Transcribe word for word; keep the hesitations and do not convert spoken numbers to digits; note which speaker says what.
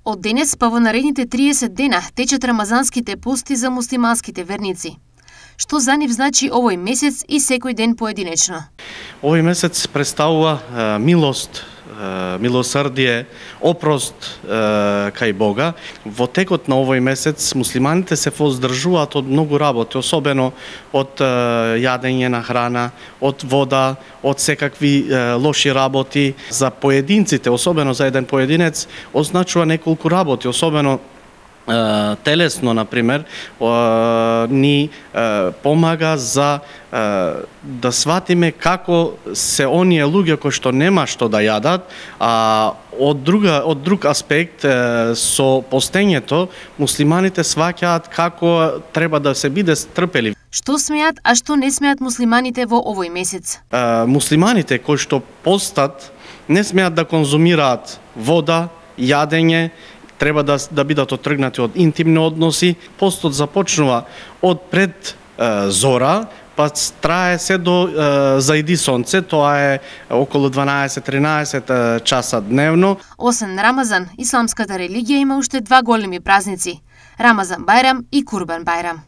Speaker 1: Од денес па во наредните триесет дена течат рамазанските пости за муслиманските верници. Што за нив значи овој месец и секој ден поединечно?
Speaker 2: Овој месец представува е, милост, е, милосрдие, опрост е, кај Бога. Во текот на овој месец муслиманите се воздржуваат од многу работи, особено од е, јадење на храна, од вода, од секакви е, лоши работи. За поединците, особено за еден поединец, означува неколку работи, особено телесно, например, ни помага за да сватиме како се оние луѓе кои што нема што да јадат, а од друга од друг аспект со постењето муслиманите сваќаат како треба да се биде трпелив.
Speaker 1: Што смеат, а што не смеат муслиманите во овој месец?
Speaker 2: Муслиманите кои што постат не смеат да конзумираат вода, јадење, треба да, да бидат отргнати од интимни односи. Постот започнува од пред е, зора, па трае се до е, зајди сонце, тоа е околу дванаесет-тринаесет часа дневно.
Speaker 1: Освен Рамазан, исламската религија има уште два големи празници – Рамазан Бајрам и Курбан Бајрам.